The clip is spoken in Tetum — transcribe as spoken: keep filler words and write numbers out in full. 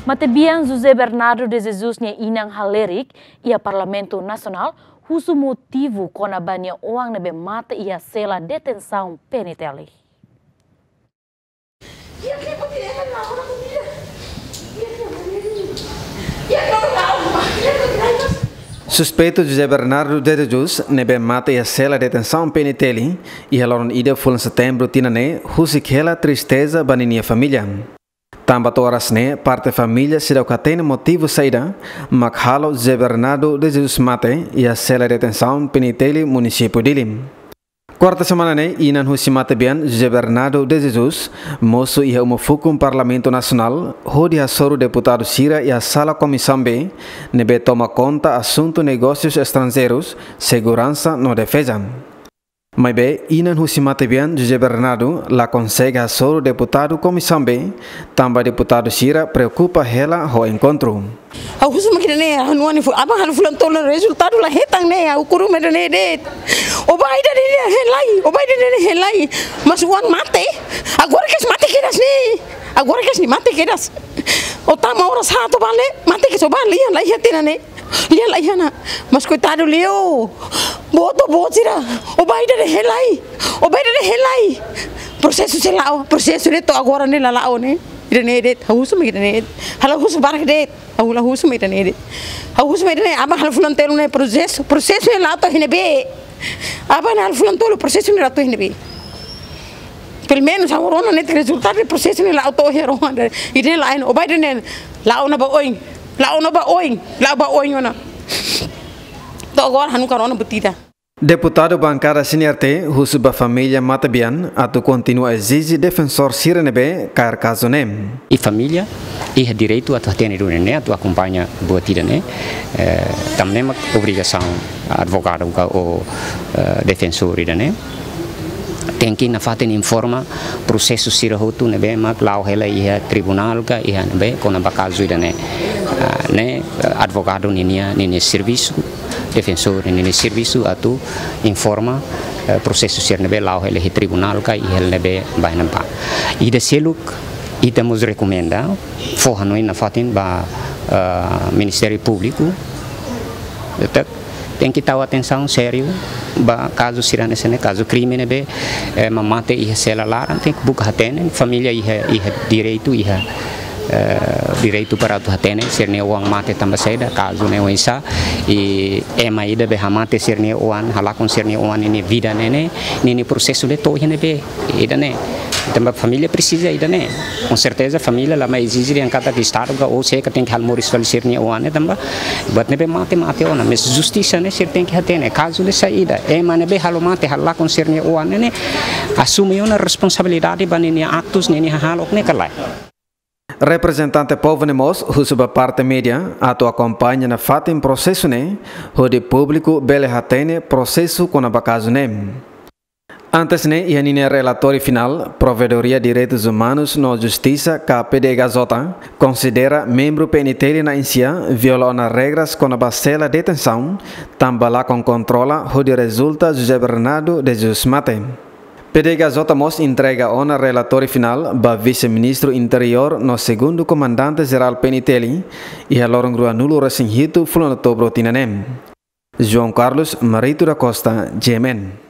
Matebian José Bernardo de Jesus nia inan halerik iha Parlamentu Nasionál husu motivu kona-ba nia oan ne'ebé mate iha sela detensaun P N T L. Suspeitu José Bernardo de Jesus ne'ebé mate iha sela detensaun P N T L iha loron ida fulan Setembru tinan ne'e husik hela tristeza ba ninia família. Tanba to'o oras ne'e parte família seidauk hatene motivu saida mak halo José Bernardo de Jesus mate iha sela detensaun P N T L munisípiu Dili. Kuarta semana ne'e, inan husi matebian José Bernardo de Jesus mosu iha uma fukun Parlamentu Nasionál hodi hasoru deputadu sira iha sala Komisaun B ne'ebé toma konta asuntu negósius estranjeirus, seguransa no defeza. Maibé, inan husi matebian José Bernardo la konsege hasoru deputadu Komisaun B, tanba deputadu sira preokupa hela ho enkontru. Ha'u husu mak ida-ne'e, ha'u-nia oan ne'e fo, aban halo fulan tolu rezultadu la hetan ne'e, ha'u kuru mak ida-ne'e de'it. Ó-nia pai ida-ne'e hein lai, ó-nia pai ida-ne'e hein lai. Mas oan mate, agora kedas mate kedas ne'e. Agora kedas ne'e mate kedas. Ó tama oras haat ó bá lee, mate kedas ó bá lee, la iha tiha ona ne'e. Lee la iha ona. Mas koitadu liu. Boot, boot sira. Ó-nia pai ida-ne'e hein lai. Ó-nia pai ida-ne'e hein lai. Prosesu sei la'o, prosesu ne'e to'o agora ne'e la la'o ne'e. Ida-ne'e de'it, ha'u husu mak ida-ne'e de'it. Ha'u la husu barak de'it. Ha'u la husu mak ida-ne'e de'it. Ha'u husu mak ida-ne'e, aban halo fulan tolu ne'e prosesu, prosesu ne'e la'o to'o iha ne'ebé. Aban halo fulan tolu prosesu ne'e la'o to'o iha ne'ebé. Pelumenus ha'u rona netik rezultadu prosesu ne'e la'o to'o iha rona. Ida-ne'e la'o, ó-nia pai ida-ne'e la'o ona ba oin. La'o ona ba oin. La'o ba oin ona. To'o agora ha'u nunka rona buat ida. Deputadu bankada C N R T husu ba família matebian atu kontinua ezije defensór sira ne'ebé kaer kazu ne'e. I família iha direitu atu hatene duni ne'e, atu akompaña buat ida-ne'e. Eh, tanba ne'e mak obrigasaun advogadu ka ou, eh, defensór ida-ne'e tenke nafatin informa prosesu sira hotu ne'ebé mak la'o hela iha tribunál ka iha ne'ebé kona-ba kazu ida-ne'e. Ah, ne'e, eh, advogadu ninia, ninia servisu, defensór ninia servisu atu informa, eh, prosesu sira ne'ebé la'o hela iha tribunál ka iha ne'ebé ba iha ne'ebá. Ida seluk, ita mós rekomenda fó hanoin nafatin ba, eh, Ministériu Públiku, ita tenke tau atensaun sériu ba kazu sira hanesan ne'e, kazu krime ne'ebé, eh, ema mate iha sela laran, tenke buka hatene, família iha, iha direitu, iha, eh, direitu para atu hatene sira-nia oan mate tanba saida, kazu ne'e oinsá, i ema ida be hamate sira-nia oan, halakon sira-nia oan ninia vida ne'e, ninia prosesu ne'e to'o iha ne'ebé. Ida-ne'e. Tanba família presiza ida-ne'e. Com certeza família la mai ezije dehan katak Estadu ka ou sé ka tenke halo moris fali sira-nia oan ne'e tanba buat ne'ebé mate, mate ona. Mas justisa ne'e sira tenke hatene. Kazu ne'e saida. Ema ne'ebé halo mate, halakon sira-nia oan ne'e, asume ona responsabilidade ba ninia aktus, ninia hahalok ne'e ka lae. Reprezentante povu ne'e mós husu ba parte média atu akompaña nafatin prosesu ne'e, hodi públiku bele hatene prosesu kona-ba kazu ne'e. Antes ne'e, iha ninia relatóriu finál, Provedoria Direitus Umanus no Justisa ka P D H J konsidera membru P N T L na'in-sia viola ona regras kona-ba sela detensaun, tanba lakon kontrola hodi rezulta José Bernardo de Jesus mate. P D H J mós entrega ona relatóriu finál ba Vise-Ministru Interiór no Segundu Komandante Jerál P N T L iha loron ruanulu-resin-hitu fulan Outubru tinan ne'e. João Carlos Marito da Costa, G M N.